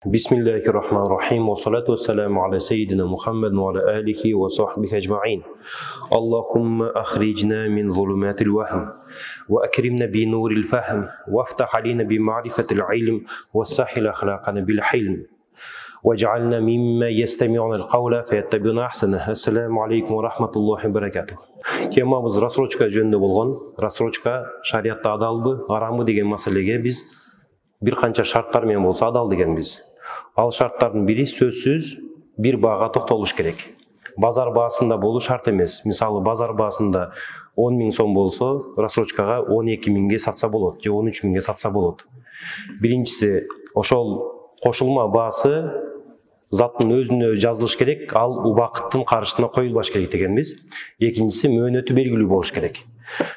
بسم الله الرحمن الرحيم والصلاة والسلام على سيدنا محمد وعلى آله وصحبه أجمعين. اللهم أخرجنا من ظلمات الوهم وأكرمنا بنور الفهم وافتح علينا بمعرفة العلم وسهل أخلاقنا بالحلم واجعلنا مما يستمعون القول فيتبعون أحسنه. السلام عليكم ورحمة الله وبركاته. Темамыз рассрочка жөнүндө болгон. Рассрочка шариатта адалбы, арамбы деген маселеге биз бир канча шарттар менен болсо адал дегенбиз. Ал шарттардын бири сөзсүз бир баага токтолуш керек. Базар баасында болуу шарт эмес. Мисалы базар баасында 10 000 сом болсо, рассрочкага 12 000ге сатса болот, же 13 000ге сатса болот. Биринчиси, ошол кошулма баасы заттын өзүнө жазылыш керек, ал убакыттын каршысына коюлбаш керек дегенбиз. Экинчиси, мөөнөтү белгилүү болуш керек.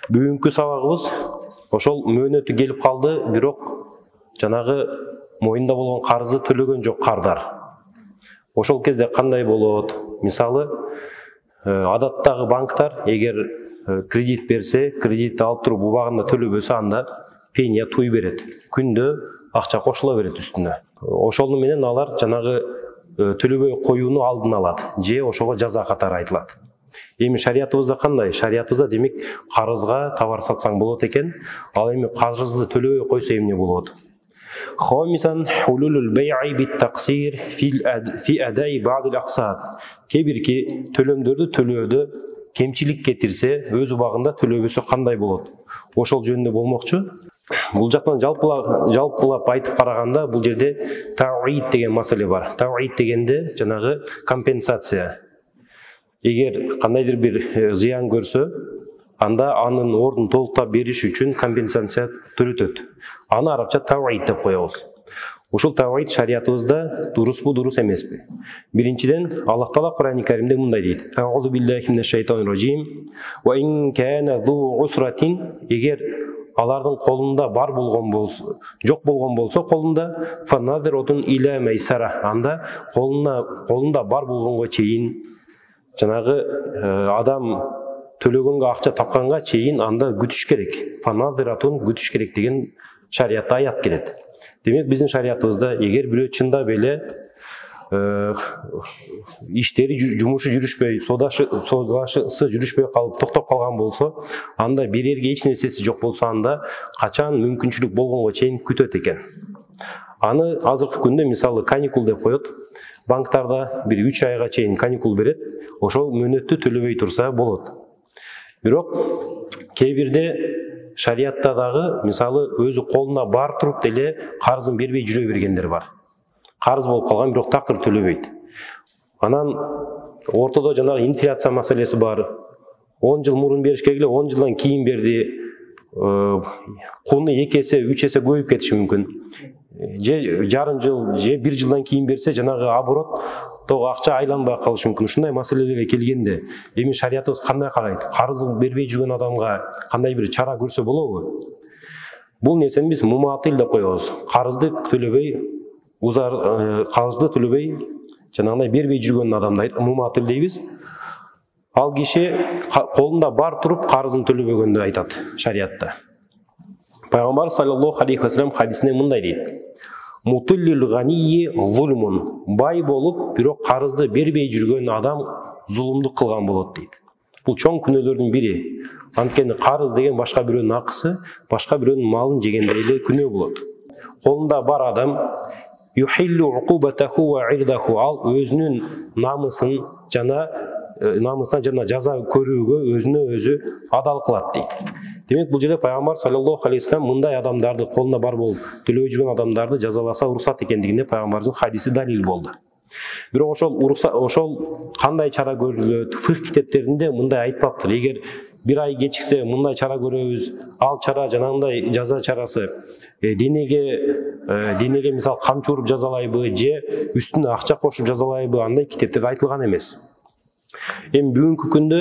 Бүгүнкү сабагыбыз ошол мөөнөтү келип калды, бирок жанагы моюнда болгон карызды төлөгөн жок кардар. Ошол кезде кандай болот? Мисалы, адаттагы банктар эгер кредит берсе, кредитти алып туруп убагында төлөбөсө, анда пеня туй берет. Күндө акча кошула берет үстүнө. Ошол менен алар жанагы төлөбөй коюуну алдын алат, же ошого жаза катары айтылат. Эми шариятыбызда кандай? Шариятыбызда демек карызга товар сатсаң болот экен, ал эми карызды төлөбөй койсо эмне болот? Хомисан хулулул бай'i бит-тaqsir fi адаи бa'd al-aqsad. Кебирки төлөмдөрдү төлөөдө кемчилик кетирсе, өз убагында төлөбөсө кандай болот? Ошол жөнүндө болмокчу. Бул жактан жалпылап айтып караганда, бул жерде тауид деген маселе бар. Тауид дегенде жанагы компенсация. Эгер кандайдыр бир зыян көрсө, анда анын ордун толуктап бериш үчүн компенсация төлөтөт. Аны арабча тауид деп коебуз. Ушул тауид шариятыбызда дурусбу, дурус эмеспи? Биринчиден, Аллах Таала Кур'ани Каримде мындай дейт: Аузу биллахи минаш шайтанир ражим. Ва ин кана зу усратин, эгер алардын колунда бар болгон болсо, жок болгон болсо колунда, фанадиротун иля майсара, анда колунда бар болгонго чейин жанагы адам төлөгөнгө акча тапканга чейин анда күтүш керек. Фанадиратун күтүш керек деген шариятта аят келет. Демек биздин шариятыбызда эгер бирөө чындап эле иштери жумушу жүрүшпөй, содасы жүрүшпөй калып токтоп калган болсо, анда берерге эч нерсеси жок болсо, анда качан мүмкүнчүлүк болгонго чейин күтөт экен. Аны азыркы күндө мисалы каникул деп коет. Банктарда бир 3 айга чейин каникул берет. Ошол мөөнөттү төлөбөй турса болот. Бирок кээ бирде шариятта дагы мисалы өзү колуна бар туруп деле карызын бербей жүрө бергендер бар. Карыз болуп калган, бирок такыр төлөбөйт. Анан ортодо жанагы инфляция маселеси бар. 10 жыл мурун бериш керек эле, 10 жылдан кийин берди. Куну 2 эсе, 3 эсе көбөйүп кетиши мүмкүн. Же жарым жыл, же 1 жылдан кийин берсе, жанагы оборот тог акча айланбай калышы мүмкүн. Ушундай маселелерге келгенде, эми шариятыбыз кандай карайт? Карызын бербей жүргөн адамга кандай бир чара көрсө болобу? Бул нерсени биз муматил деп коебуз. Карызды төлөбөй, карызды төлөбөй жанагындай бербей жүргөн адамды муматил дейбиз. Ал киши колунда бар туруп карызын төлөбөгөндү айтат шариятта. Пайгамбар саллаллаху алейхи ва саллям хадисинде мындай дейт: Мутиллил ганийи зулмун. Бай болуп, бирок карызды бербей жүргөн адам зулумдук кылган болот дейт. Бул чоң күнөөлөрдүн бири. Анткени карыз деген башка бирөөнүн акысы, башка бирөөнүн малын жегендей эле күнөө болот. Колунда бар адам юхиллу уқубатаху ва ирдаху, ал өзүнүн намысына жана жаза көрүүгө өзүнө өзү адал кылат дейт. Демек бул жерде пайгамбар саллаллаху алейхи ва саллям мындай адамдарды, колуна бар болуп төлөбөй жүргөн адамдарды жазаласа уруксат экендигине пайгамбардын хадиси далил болду. Бирок ошол кандай чара көрүлөт? Фих китептеринде мындай айтпаптыр. Эгер бир ай кечиксе мындай чара көрөбүз. Ал чара жанагындай жаза чарасы денеге мисал камчы уруп жазалайбы, же үстүнө акча кошуп жазалайбы, андай китептерде айтылган эмес. Эми бүгүнкү күндө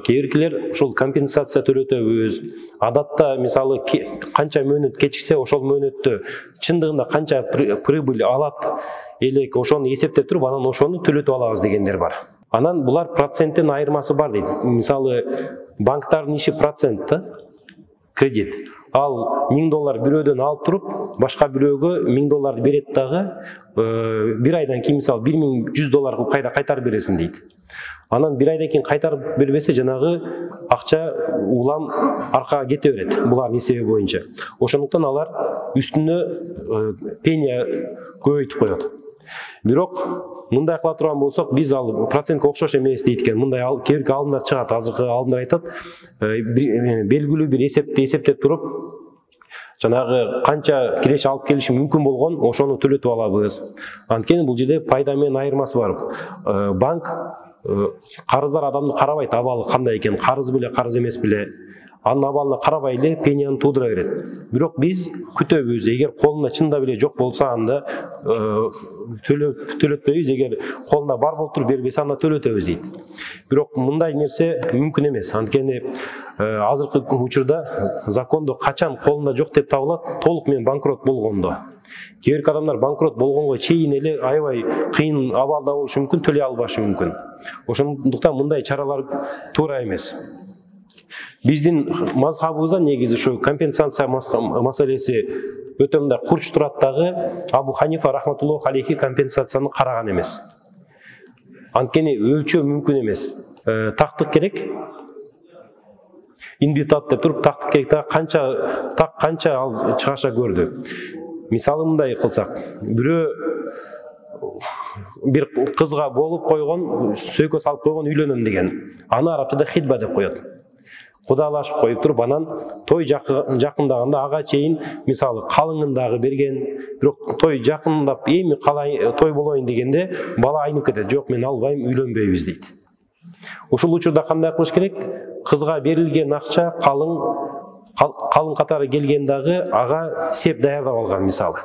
кээбиркилер ошол компенсация төлөтөбүз. Адатта мисалы канча мөөнөт кечиксе, ошол мөөнөттө чындыгында канча прибыль алат элек, ошону эсептеп туруп, анан ошону төлөтүп алабыз дегендер бар. Анан булар проценттен айырмасы бар дейт. Мисалы банктардын иши процент да. кредит. Ал $1000 бирөөдөн алып туруп, башка бирөөгө $1000 берет дагы, бир айдан кийин мисалы $1100 кылып кайтарып бересиң дейт. Анан бир айдан кийин кайтарып бербесе, жанагы акча улам аркага кете берет булардын эсеби боюнча. Ошондуктан алар үстүнө пения көбөйтүп коет. Бирок мындай кыла турган болсок, биз ал процентке окшош эмес дейт экен. Мындай кээинки алдымдар чыгат, азыркы алдымдар айтат, белгилүү бир эсептеп туруп, жанагы канча киреш алып келиши мүмкүн болгон, ошону төлөтүп алабыз. Анткени бул жерде пайда менен айырмасы бар. Банк карыздар адамды карабайт, абалы кандай экен, карыз беле, карыз эмес беле. Анын абалына карабай эле пенияны туудура берет. Бирок биз күтөбүз. Эгер колунда чында беле жок болсо, анда төлөтпөйбүз. Эгер колунда бар болуп туруп бербесе, анда төлөтөбүз дейт. Бирок мындай нерсе мүмкүн эмес. Анткени азыркы учурда закондо качан колунда жок деп табылат, толук менен банкрот болгондо. Кээ бир адамдар банкрот болгонго чейин эле аябай кыйын абалда болушу мүмкүн, төлөй албашы мүмкүн. Ошондуктан мындай чаралар туура эмес. Биздин мазхабыбызда негизи ушу компенсация маселеси өтө мындай курч турат дагы, Абу Ханифа рахматуллаху алейхи компенсацияны караган эмес. Анткени өлчөө мүмкүн эмес. Тактык керек. Инбитат деп туруп тактык керек да, канча ал чыгаша көрдү. Мисалы мындай кылсак, бирөө бир кызга болуп койгон, сөйкө салып койгон, үйлөнөм деген. Аны арабчада хидба деп коет. Кудалашып коюп туруп, анан той жакындаганда ага чейин мисалы калыңын дагы берген, бирок той жакындап эми калай той болоюн дегенде бала айнып кетет. Жок, мен албайм, үйлөнбөйбүз дейт. Ушул учурда кандай кылыш керек? Кызга берилген акча калың катары келген дагы ага сеп даярдап алган мисалы.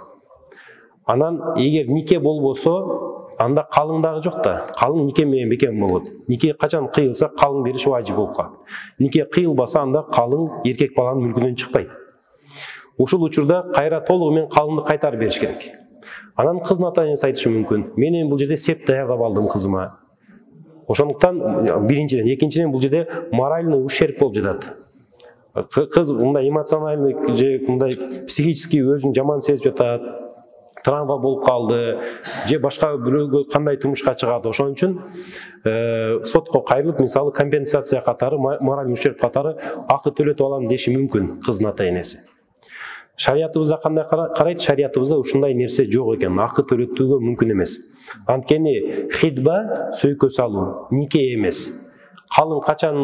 Анан эгер нике болбосо, анда калың дагы жок да. Калың нике менен бекем болот. Нике качан кыйылса, калың бериш важип болуп калат. Нике кыйылбаса, анда калың эркек баланын мүлкүнөн чыкпайт. Ушул учурда кайра толугу менен калыңды кайтарып бериш керек. Анан кыздын ата-энеси айтышы мүмкүн: "Мен бул жерде сеп даярдап алдым кызыма." Ошондуктан биринчиден, экинчиден бул жерде моральный ущерб болуп жатат. Кыз мындай эмоциональный же мындай психический өзүн жаман сезип жатат, травма болуп калды, же башка бирөөгө кандай турмушка чыгат. Ошон үчүн сотко кайрылып, мисалы компенсация катары, моральный ущерб катары акы төлөтүп алам деши мүмкүн кыздын ата-энеси. Шариятыбызда кандай карайт? Шариятыбызда ушундай нерсе жок экен, акы төлөтүүгө мүмкүн эмес. Анткени хидба сөйкө салуу, нике эмес. Калың качан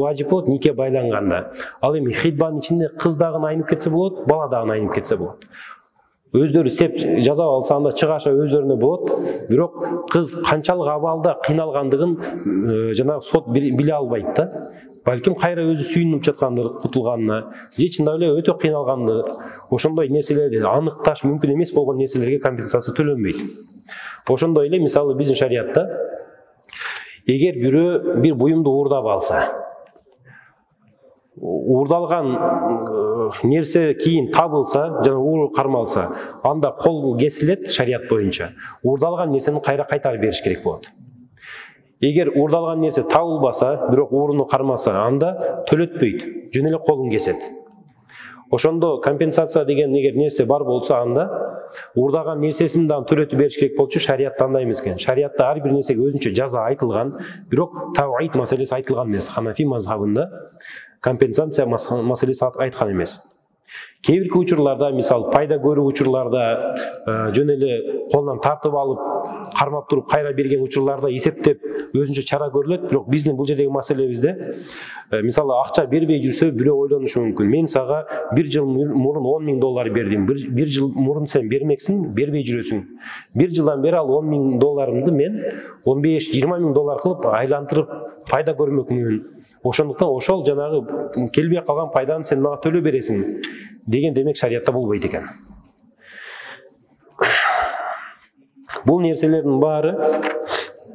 важип болот? Нике байланганда. Ал эми хидбанын ичинде кыз дагы айнып кетсе болот, бала дагы айнып кетсе болот. Өздөрү сеп жазап алса, анда чыгаша өздөрүнө болот. Бирок кыз канчалык абалда кыйналгандыгын жанагы сот биле албайт да. Балким кайра өзү сүйүнүп жаткандыр кутулганына, же чындап эле өтө кыйналгандыр. Ошондой нерселерди аныкташ мүмкүн эмес болгон нерселерге компенсация төлөнбөйт. Ошондой эле мисалы биздин шариятта эгер бирөө бир буюмду уурдап алса, уурдалган нерсе кийин табылса, жана ууру кармалса, анда кол кесилет шарият боюнча. Уурдалган нерсени кайра кайтарып бериш керек болот. Эгер уурдалган нерсе табылбаса, бирок ууруну кармаса, анда төлөтпөйт, жөн эле колун кесет. Ошондо компенсация деген эгер нерсе бар болсо, анда уурдаган нерсесин дагы төлөтүп бериш керек болчу. Шариятта андай эмес экен. Шариятта ар бир нерсеге өзүнчө жаза айтылган, бирок тавайт маселеси айтылган эмес. Ханафи мазхабында компенсация маселеси айткан эмес. Кээ бирки учурларда, мисалы пайда көрүү учурларда, жөн эле колунан тартып алып, кармап туруп кайра берген учурларда эсептеп өзүнчө чара көрүлөт. Бирок биздин бул жердеги маселебизде, мисалы акча бербей жүрсө, бирөө ойлонушу мүмкүн: "Мен сага бир жыл мурун $10,000 бердим. Бир жыл мурун сен бермексиң, бербей жүрөсүң. Бир жылдан бери ал $10,000 мен $15-20,000 кылып айлантырып пайда көрмөкмүн. Ошондуктан ошол жанагы келбей калган пайданы сен мага төлөп бересиң" деген демек шариятта болбойт экен. Бул нерселердин баары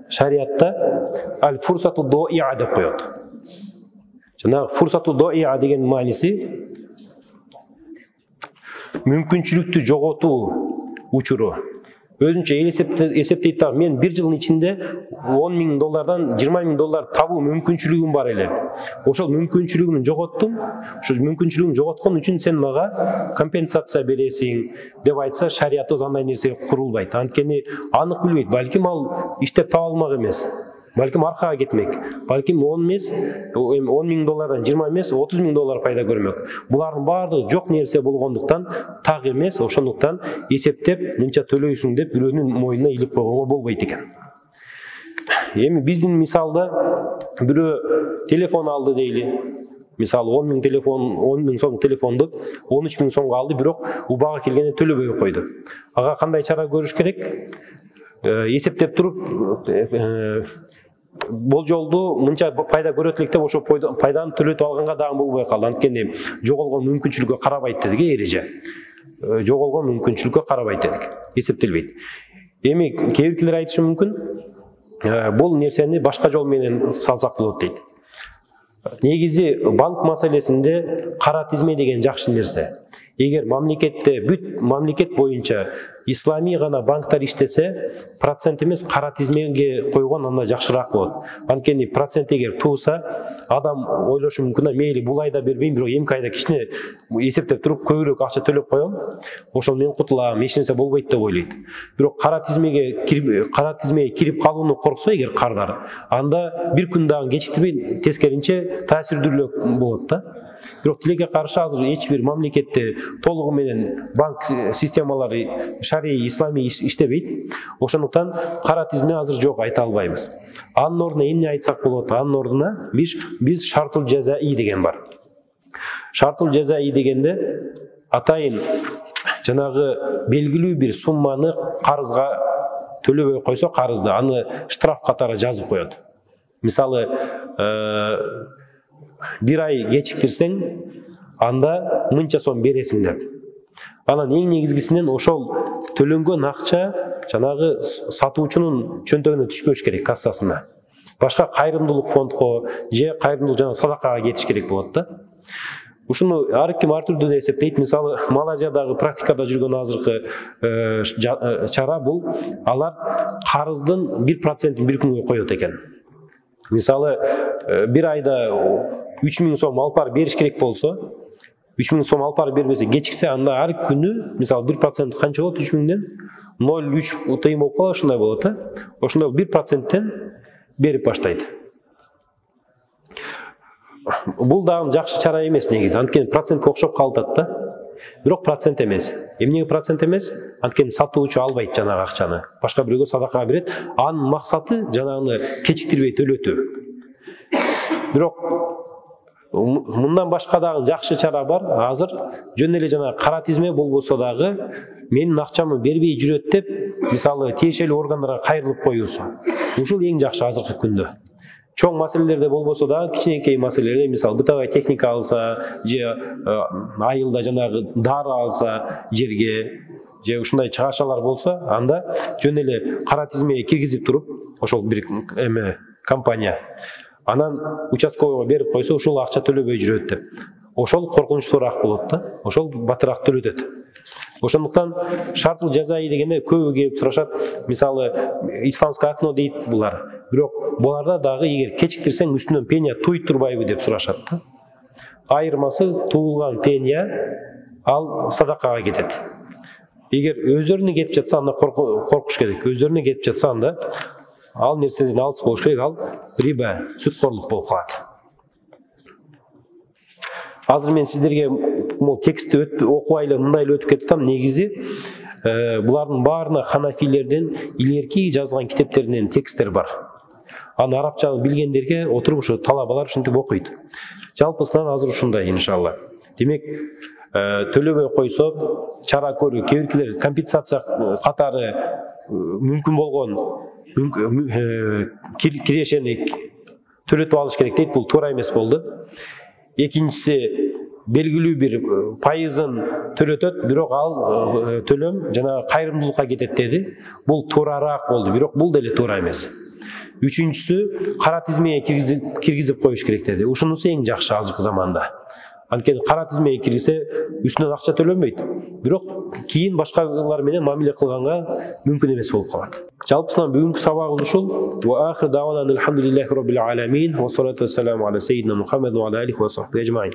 шариятта аль-фурсату доиа деп коет. Жанагы фурсату доиа деген мааниси мүмкүнчүлүктү жоготуу учуру. өзүнчө эсептейт да, мен бир жылдын ичинде $10,000 $20,000 табуу мүмкүнчүлүгүм бар эле. Ошол мүмкүнчүлүгүмдү жоготтум. Ошол мүмкүнчүлүгүмдү жоготкон үчүн сен мага компенсация бересиң деп айтса, шариятыбыз андай нерсе курулбайт. Анткени анык билбейт. Балким ал иштеп таба алмак эмес. Балким аркага кетмек. Балким 10 эмес, $10,000 20 эмес, $30,000 пайда көрмөк. Булардын баардыгы жок нерсе болгондуктан так эмес. Ошондуктан эсептеп мынча төлөйсүң деп бирөөнүн мойнуна илип койгонго болбойт экен. Эми биздин мисалда бирөө телефон алды дейли. Мисалы 10,000 сом телефонду 13,000 сомго алды, бирок убага келгенде төлөбөй койду. Ага кандай чара көрүш керек? Эсептеп туруп болжолду мынча пайда көрөт элек деп ошо пайданы төлөтүп алганга дагы болбой калды. Анткени жоголгон мүмкүнчүлүккө карабайт дедик, эреже. Жоголгон мүмкүнчүлүккө карабайт дедик. Эсептелбейт. Эми кээ биркилер айтышы мүмкүн, бул нерсени башка жол менен салсак болот дейт. Негизи банк маселесинде кара тизме деген жакшы нерсе. Эгер мамлекетте бүт мамлекет боюнча ислами гана банктар иштесе, процент эмес кара тизмеге койгон анда жакшыраак болот. Анткени процент эгер тууса, адам ойлошу мүмкүн, мейли бул айда бербейм, бирок эмки айда кичине эсептеп туруп көбүрөөк акча төлөп коем, ошол мен кутулам, эч нерсе болбойт деп ойлойт. Бирок кара тизмеге кирип калууну корксо эгер кардар, анда бир күн дагы кечиктирбей тескеринче таасирдүүлүү болот да. Бирок тилекке каршы азыр эч бир мамлекетте толугу менен банк системалары шарий ислами иштебейт. Ошондуктан кара тизме азыр жок айта албайбыз. Анын ордуна эмне айтсак болот? Анын ордуна биз шартул жазаи деген бар. Шартул жазаи дегенде атайын жанагы белгилүү бир сумманы карызга төлөбөй койсо, карызды аны штраф катары жазып коет. Мисалы, бир ай кечиктирсең, анда мынча сом бересиң деп. Анан эң негизгисинен ошол төлөнгөн акча жанагы сатуучунун чөнтөгүнө түшпөш керек, кассасына. Башка кайрымдуулук фондко же кайрымдуулук жана садакага кетиш керек болот да. Ушуну ар ким ар түрдүү да эсептейт. Мисалы, Малайзиядагы практикада жүргөн азыркы чара бул, алар карыздын 1%-ин бир күнгө коет экен. Мисалы, бир айда 3,000 сом алып барып бериш керек болсо, 3,000 сом алып барып бербесе, кечиксе, анда ар күнү, мисалы, 1% канча болот? 3,000ден 0,3 тыйын болуп калат, ушундай болот да. Ошондой 1%-тен берип баштайт. Бул дагы жакшы чара эмес негизи, анткени процентке окшоп калат да. Бирок процент эмес. Эмнеге процент эмес? Анткени сатуучу албайт жанагы акчаны. Башка бирөөгө садакага берет. Анын максаты жанагыны кечиктирбей төлөтүү. Бирок мындан башка дагы жакшы чара бар. Азыр жөн эле жана кара тизме болбосо дагы менин акчамы бербей жүрөт деп, мисалы, тиешелүү органдарга кайрылып коюусу. Ушул эң жакшы азыркы күндө. Чоң маселелерде болбосо да, кичинекей маселелерде, мисалы, бытовая техника алса, же айылда жанагы дары алса жерге, же ушундай чыгашалар болсо, анда жөн эле кара тизмеге киргизип туруп, ошол бир компания анан участковойго берип койсо, ушул акча төлөбөй жүрөт деп. Ошол коркунучтуураак болот да, ошол батыраак төлөтөт. Ошондуктан шартул жазаи дегенде көбү келип сурашат. Мисалы, исламское окно дейт булар. Бирок буларда дагы эгер кечиктирсең үстүнөн пеня туйт турбайбы деп сурашат да. Айырмасы туулган пеня ал садакага кетет. Эгер өздөрүнө кетип жатса, анда коркуш керек. Өздөрүнө кетип жатса, анда ал нерседен алыс болуш керек, ал риба, сүткорлук болуп калат. Азыр мен сиздерге бул текстти окубай эле мындай эле өтүп кетип атам. Негизи булардын баарына ханафилерден илгерки жазган китептеринен тексттер бар. Аны арабчаны билгендерге отуруп ушу талабалар ушинтип окуйт. Жалпысынан азыр ушундай, иншалла. Демек, төлөбөй койсо чара көрүү, кээ биркилер компенсация катары мүмкүн болгон кирешени төлөтүп алыш керек дейт. Бул туура эмес болду. Экинчиси, белгилүү бир пайызын төлөтөт, бирок ал төлөм жана кайрымдуулукка кетет деди. Бул туурараак болду, бирок бул деле туура эмес. Үчүнчүсү, кара тизмеге киргизип коюш керек деди. Ушунусу эң жакшы азыркы заманда. Анткени кара тизмеге кирсе үстүнөн акча төлөнбөйт. Бирок кийин башкалар менен мамиле кылганга мүмкүн эмес болуп калат. Жалпысынан бүгүнкү сабагыбыз ушул. Ва ахир давана алхамдулиллахи роббил аламин ва салату вассаламу аля сайидина Мухаммад ва аля алихи ва сахбихи ажмаин.